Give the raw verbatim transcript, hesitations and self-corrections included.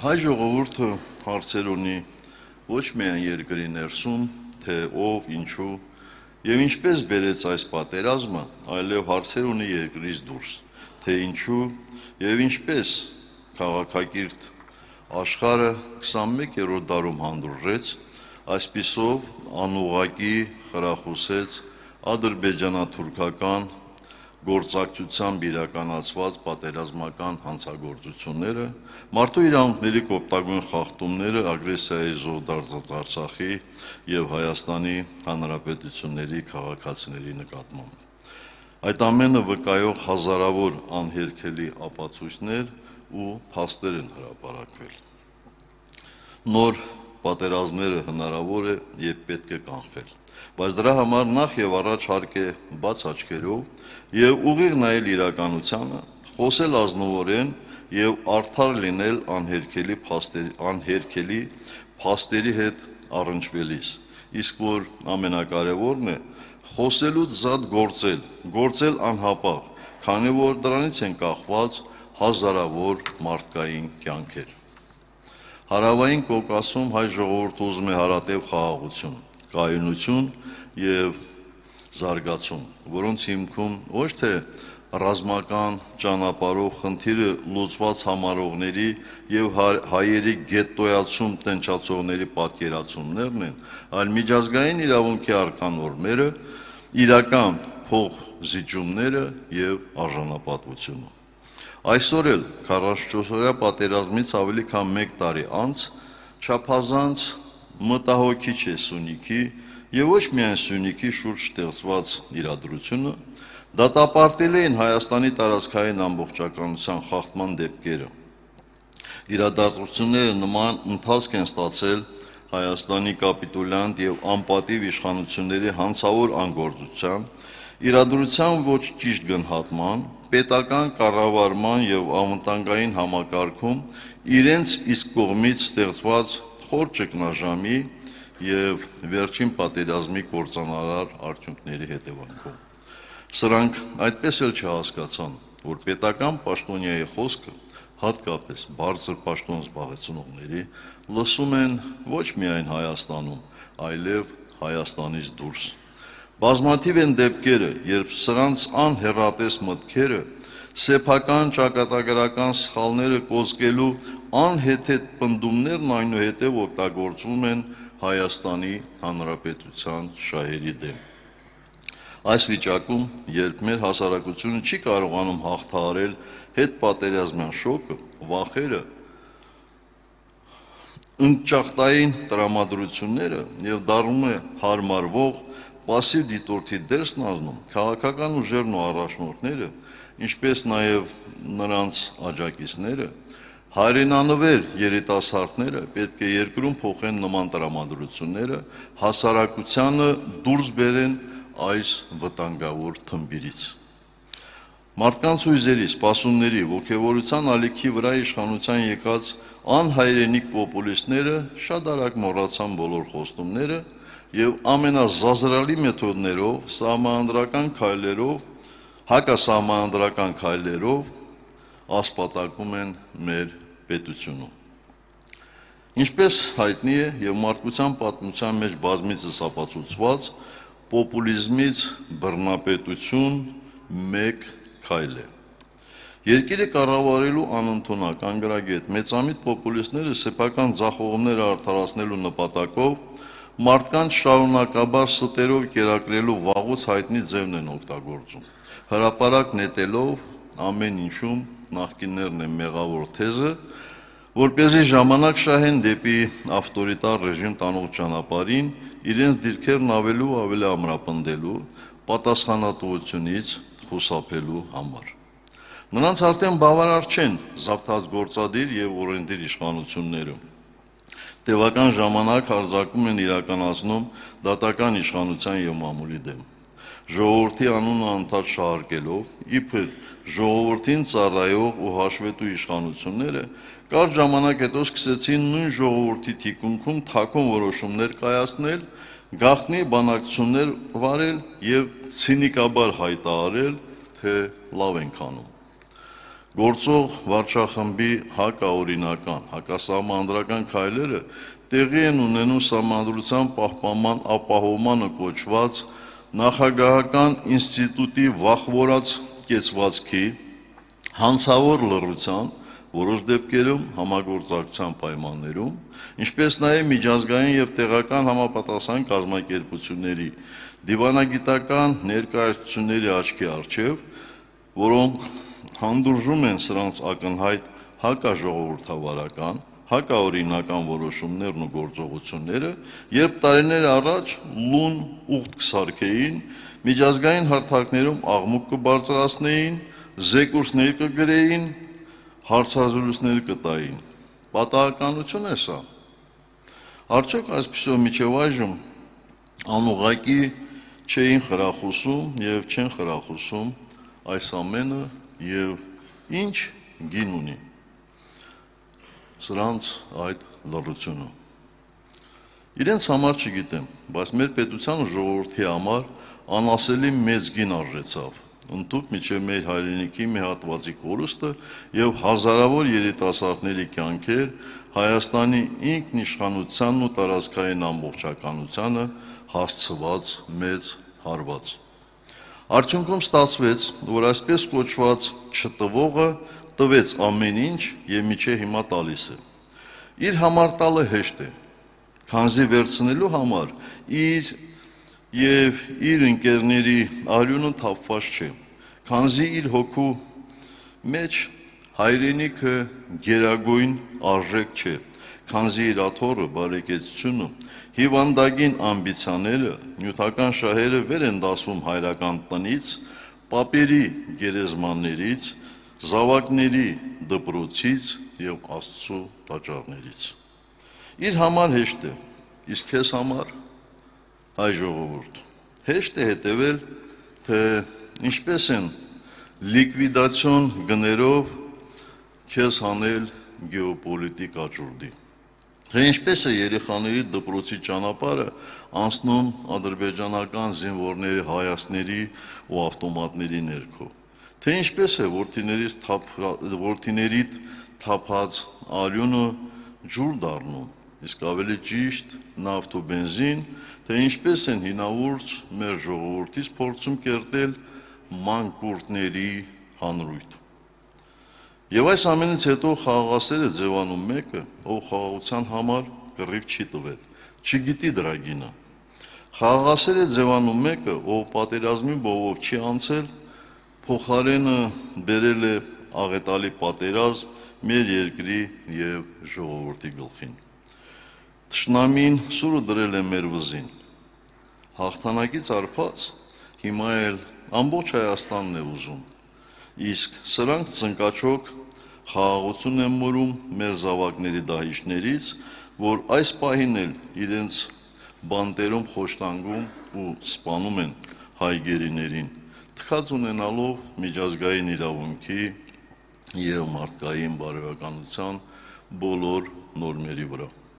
Հայ ժողովուրդը հարցեր ունի ոչ միայն երկրի ներսում, թե ով, ինչու եւ ինչպես բերեց այս պատերազմը, այլև հարցեր ունի երկրից դուրս, թե ինչու եւ ինչպես քաղաքակիրթ աշխարհը քսանմեկերորդ դարում հանդուրժեց, այսպիսով անուղղակի խրախուսեց ադրբեջանա-թուրքական գործակցությամբ իրականացված պատերազմական հանցագործությունները, մարդու իրավունքների կոպտագույն խախտումները ագրեսիայի զոհ դարձած Արցախի եւ Հայաստանի Հանրապետությունների քաղաքացիների նկատմամբ։ Այդ ամենը վկայող հազարավոր անհերքելի ապացույցներ ու փաստեր են հրապարակվել։ Նոր պատերազմները հնարավոր է եւ պետք է կանխել, բայց դրա համար նախ եւ առաջ հարկ է բաց աչքերով եւ ուղիղ նայել իրականությանը, խոսել ազնվորեն եւ արդար լինել անհերքելի փաստերի անհերքելի փաստերի հետ առնչվելիս, իսկ որ ամենակարևորն է խոսելուց զատ գործել, գործել անհապաղ, քանի որ դրանից են կախված հազարավոր մարդկային կյանքեր։ Հարավային Կովկասում հայ ժողովուրդը ուզում է հարատև խաղաղություն, կայունություն եւ զարգացում, որոնց հիմքում ոչ թե ռազմական ճանապարհով խնդիրը լուծված համարողների եւ հայերի գետտոյացում տնչացողների պատկերացումներն են, այլ միջազգային իրավունքի արկանորմերը, իրական փոխզիջումները եւ արժանապատվությունը։ Այսօր էլ քառասունչորսօրյա պատերազմից ավելի քան մեկ տարի անց չափազանց մտահոգիչ է Սյունիքի եւ ոչ միայն Սյունիքի շուրջ ստեղծված իրադրությունը, դատապարտել էին Հայաստանի տարածքային ամբողջականության խախտման դեպքերը։ Իրադարձությունները նման ընթացք են ստացել Հայաստանի կապիտուլյանտ եւ անպատիվ իշխանությունների հանցավոր անգործության, իրադրության ոչ ճիշտ գնահատման, պետական կառավարման եւ անվտանգային համակարգում իրենց իսկ կողմից ստեղծված խոր ճգնաժամի եւ վերջին պատերազմի կործանարար արդյունքների հետևանքով։ Սրանք այդպես էլ չհասկացան, որ պետական պաշտոնյայի խոսքը, հատկապես բարձր պաշտոն զբաղեցնողների, լսում են ոչ միայն Հայաստանում, այլև Հայաստանից դուրս։ Բազմաթիվ են դեպքերը, երբ սրանց անհեռատես մտքերը սեփական ճակատագրական սխալները կոծկելու անհեթեթ պնդումներն այնուհետև օգտագործվում են Հայաստանի Հանրապետության շահերի դեմ։ Այս վիճակում, երբ մեր հասարակությունը չի կարողանում հաղթահարել հետպատերազմյան շոկը, վախերը, ընկճախտային տրամադրությունները եւ դառնում է հարմարվող պասիվ դիտորդի դեր ստանձնում, քաղաքական ուժերն ու առաջնորդները, ինչպես նաեւ նրանց աջակիցները, հայրենանվեր երիտասարդները պետք է երկրում փոխեն նման տրամադրությունները, հասարակությանը դուրս բերեն այս վտանգավոր թմբիրից։ Մարդկանց հույզերի, սպասումների, ոգևորության ալիքի վրա իշխանության եկած անհայրենիք պոպուլիստները շատ արագ մոռացան բոլոր խոստումները եւ ամենազազրալի մեթոդներով, սահմանադրական քայլերով, հակասահմանադրական քայլերով ասպատակում են մեր պետությունում։ Ինչպես հայտնի է եւ մարդկության պատմության մեջ բազմիցս ապացուցված, պոպուլիզմից բռնապետություն մեկ քայլ է։ Երկիրը կառավարելու անընդունակ անգրագետ մեծամիտ պոպուլիստները սեփական ձախողումները արդարացնելու նպատակով մարդկանց շարունակաբար ստերով կերակրելու վաղուց հայտնի ձևն են օգտագործում, հրապարակ նետելով ամեն ինչում նախկիններն են մեղավոր թեզը, որպեսզի ժամանակ շահեն դեպի ավտորիտար ռեժիմ տանող ճանապարհին իրենց դիրքերն ավելի ու ավելի ամրապնդելու, պատասխանատվությունից խուսափելու համար։ Նրանց արդեն բավարար չեն զավթած գործադիր եւ օրենսդիր իշխանությունները։ Տևական ժամանակ հարձակում են իրականացնում դատական իշխանության եւ մամուլի դեմ։ Ժողովրդի անունը անդադ շահարկելով, իբր ժողովրդին ծառայող ու հաշվետու իշխանությունները կարճ ժամանակ հետո սկսեցին նույն ժողովրդի թիկունքում թաքուն որոշումներ կայացնել, գաղտնի բանակցություններ վարել եւ ցինիկաբար հայտարարել, թե լավ ենք անում։ գործող վարչախմբի հակաօրինական, հակասահմանադրական քայլերը տեղի են ունենում Սահմանադրության պահպանման ապահովմանը կոչված նախագահական ինստիտուտի վախվորած կեցվածքի, հանցավոր լռության, որոշ դեպքերում համագործակցության պայմաններում, ինչպես նաև միջազգային և տեղական համապատասխան կազմակերպությունների դիվանագիտական ներկայացուցիչների աչքի առջև, որոնք հանդուրժում են սրանց ակնհայտ հակաժողովրդավարական, հակաօրինական որոշումներն ու գործողությունները, երբ տարիներ առաջ լուն ուղտ կսարքեին, միջազգային հարթակներում աղմուկ կբարձրացնեին, զեկույցներ կգրեին, հարցազրույցներ կտային։ Պատահականություն է սա։ Արդյոք այսպիսով մինչև այժմ անուղղակի չէին խրախուսում և չեն խրախուսում այս ամենը և ինչ գին ունի սրանց այդ լռությունը։ Իրենց համար չգիտեմ, բայց մեր պետության ու ժողովրդի համար անասելի մեծ գին արժեցավ ընդհուպ մինչև մեր հայրենիքի մի հատվածի կորուստը և հազարավոր երիտասարդների կյանքեր Հայաստանի ինքնիշխանությանն ու տարածքային ամբողջականությանը հասցված մեծ հարված։ Արդյունքում ստացվեց, որ այսպես կոչված չտվողը տվեց ամեն ինչ և մինչև հիմա տալիս է։ Իր համար տալը հեշտ է, քանզի վերցնելու համար իր և իր ընկերների արյունը թափված չէ, քանզի իր հոգու մեջ հայրենիքը գերագույն արժեք չէ, քանզի իր աթոռը, բարեկեցությունը, հիվանդագին ամբիցիաները, նյութական շահերը վեր են դասվում հայրական տնից, պապերի գերեզմաններից, զավակների դպրոցից և Աստծու տաճարներից։ Իր համար հեշտ է, իսկ քեզ համար, հայ ժողովուրդ, հեշտ է հետևել, թե ինչպես են լիկվիդացիոն գներով քեզ հանել գեոպոլիտիկ աճուրդի, թե ինչպես է երեխաների դպրոցի ճանապարհը անցնում ադրբեջանական զինվորների հայացքների ու ավտոմատների ներքո, թե ինչպես է որդիներիդ թափած արյունը ջուր դառնում, իսկ ավելի ճիշտ նավթ ու բենզին, թե ինչպես են հինավուրց մեր ժողովրդից փորձում կերտել մանկուրտների հանրույթ։ Եվ այս ամենից հետո խաղաղասեր է ձևանում մեկը, ով խաղաղության համար կռիվ չի տվել, չգիտի դրա գինը։ Խաղաղասեր է ձևանում մեկը, ով պատերազմի բովով չի անցել, փոխարենը բերել է աղետալի պատերազմ մեր երկրի և ժողովրդի գլխին։ Թշնամին սուրը դրել է մեր վզին։ Հաղթանակից արբած հիմա էլ ամբողջ Հայաստանն է ուզում, իսկ սրանք ծնկաչոք խաղաղություն են մորում մեր զավակների դահիճներից, որ այս պահին էլ իրենց բանտերում խոշտանգում ու սպանում են հայ գերիներին, թքած ունենալով միջազգային իրավունքի և մարդկային բարոյականության բոլոր նորմերի վրա։